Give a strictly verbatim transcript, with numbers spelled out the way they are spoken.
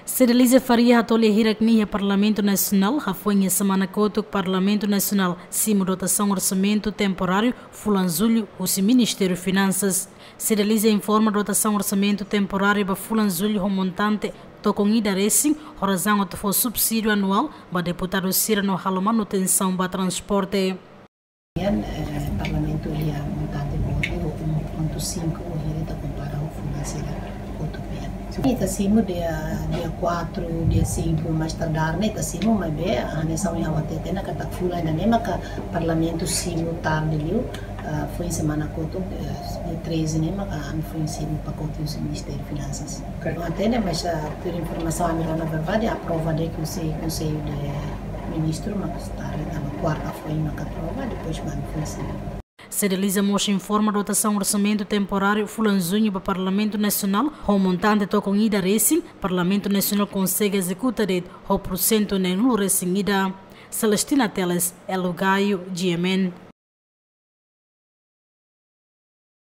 Cedeliza Faria hato'o lia hirak nia iha Parlamentu Nasionál, hafoin iha semana kotuk Parlamentu Nasionál simu dotasaun orsamentu temporáriu fulan Jullu husi Ministériu Finansas. Cedeliza informa dotasaun orsamentu temporáriu ba fulan Jullu ho montante tokon ida resin, ho razaun atu fó subsídiu anuál ba deputadu sira no halo manutensaun ba transporte. Nian, eh, Parlamentu iha montante boot um ponto cinco, o hiri ita kompara ho fulan sira kotuk nian. Ita simu dia, dia quatro, dia cinco, mais tardar ne'e ita simu, maibé, hanesan ohin ha'u hatete ona katak fulan ida-ne'e maka Parlamentu simu tarde liu, ah, foin semana kotuk, eh, dia treze ne'e maka ami foin simu pakote husi Ministériu Finansas. Ok. Ha'u hatene, mas, ah, tuir informasaun ami rona verdade, aprova de'it husi Konsellu de Ministru, mas tarde, tanba kuarta foin maka aprova, depois manda foin simu. Cedeliza mós informa dotasaun orsamentu temporáriu fulan Juñu ba Parlamentu Nasionál, ho montante tokon ida resin, Parlamentu Nasionál konsege ezekuta de'it ho porsentu neenulu resin ida. Celestina Teles, Elo Gaio, G M N.